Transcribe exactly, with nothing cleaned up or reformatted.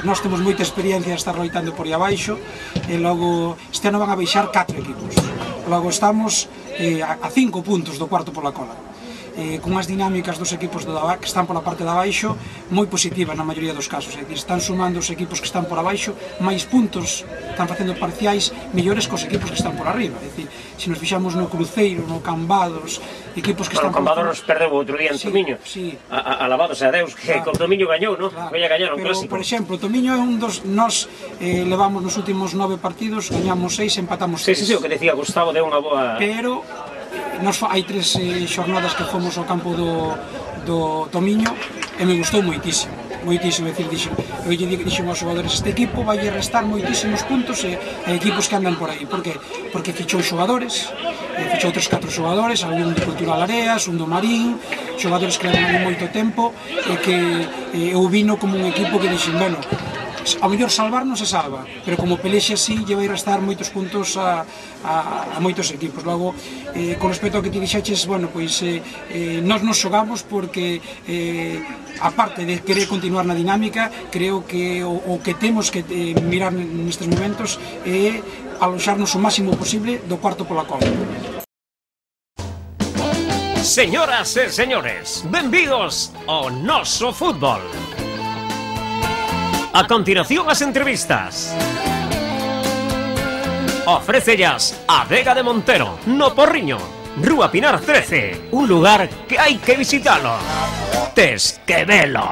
Nós temos moita experiencia de estar loitando por aí abaixo, e logo este ano van a baixar catro equipos. Logo estamos eh, a cinco puntos do cuarto pola cola. Eh, con as dinámicas dos equipos do, que están pola parte de abaixo moi positivas na maioría dos casos, é dicir, están sumando os equipos que están por abaixo máis puntos, están facendo parciais mellores cos equipos que están por arriba, é dicir, se nos fixamos no Cruceiro, no Cambados, equipos que bueno, están... Bueno, Cambados nos perdeu outro día en sí, Tomiño, sí. Alabados a Deus, que claro, con Tomiño gañou, non? Claro. Vai a gañar un pero, clásico. Por exemplo, Tomiño é un dos... Nos eh, levamos nos últimos nove partidos, gañamos seis, empatamos seis. Sí, sí, sí, o que decía Gustavo de unha boa... Pero... Nos hai tres eh, xornadas que fomos ao campo do, do Tomiño e me gustou moitísimo, moitísimo, é dicir, dixo, eu lle dixo aos xogadores, este equipo vai restar moitísimos puntos e, e equipos que andan por aí, por que? Porque fichou xogadores, eh, fichou tres, catro xogadores, algún de Cultural Areas, un do Marín, xogadores que levan ali moito tempo e que eh, eu vino como un equipo que dixen, bueno, a mellor salvar non se salva, pero como pelexe así lle vai restar moitos puntos a, a, a moitos equipos. Logo, eh, con respecto ao que ti dixeches, bueno, pois eh, eh, nós nos xogamos porque eh, aparte de querer continuar na dinámica, creo que o, o que temos que eh, mirar nestes momentos é aloxarnos o máximo posible do cuarto pola cola. Señoras e señores, benvidos ao noso fútbol. A continuación as entrevistas. Ofrécellas a Vega de Montero, no Porriño, Rúa Pinar trece, un lugar que hai que visitalo. Tes que velo.